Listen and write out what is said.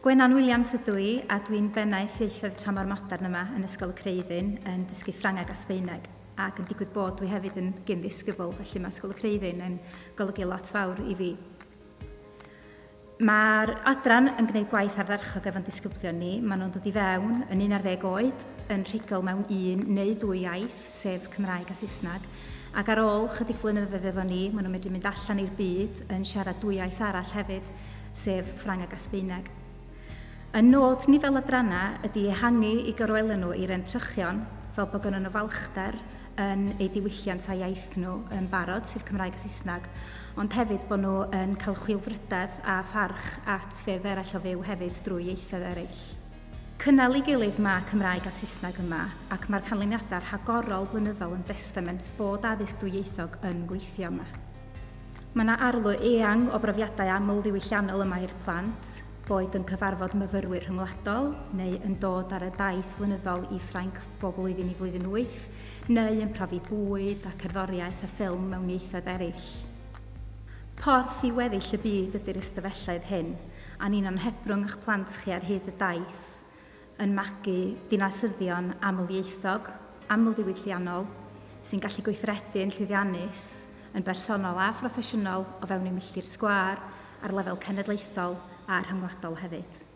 Gwenan Williams ydw i a dwi'n bennaeth ieithoedd tramor modern yma yn Ysgol y Creuddyn yn dysgu Ffrangeg a Sbaeneg ac yn digwydd bod dwi hefyd yn gyn-ddisgybl, felly mae Ysgol y Creuddyn yn golygu lot fawr i fi. Mae'r adran yn gwneud gwaith ardderchog efo'n disgyblion ni. Maen nhw'n dod i fewn yn 11 oed, yn rhugl mewn un neu ddwy iaith, sef Cymraeg a Saesneg, ac ar ôl chydig flynyddoedd efo ni, maen nhw'n medru mynd allan i'r byd yn siarad dwy iaith arall hefyd, sef Ffrangeg a Sbaeneg. Y nod ni fel adrannau ydy ehangu i gorwelion nhw i'r entrychion, fel bod gynnon nhw falchder yn eu diwylliant a iaith nhw yn barod, sef Cymraeg a Saesneg, ond hefyd bod nhw yn cael chwilfrydedd a pharch at ffyrdd eraill o fyw hefyd drwy ieithoedd eraill. Cynnal ei gilydd mae Cymraeg a Saesneg yma, ac mae'r canlyniadau rhagorol blynyddol yn destament bod addysg dwyieithog yn gweithio yma. Mae yna arlwy eang o brofiadau aml-ddiwylliannol yma i'r plant, boed yn cyfarfod myfyrwyr rhyngwladol, neu yn dod ar y daith flynyddol i Ffrainc bob blwyddyn i flwyddyn 8, neu yn profi bwyd a cerddoriaeth a ffilm mewn ieithoedd eraill. Porth i weddill y byd ydy'r ystafelloedd hyn, a ni'n anhebrwng eich plant chi ar hyd y daith yn magu dinasyddion amlieithog, amlddiwylliannol, sy'n gallu gweithredu yn llwyddiannus, yn bersonol a phroffesiynol o fewn eu milltir sgwâr ar lefel cenedlaethol a rhyngwladol hefyd.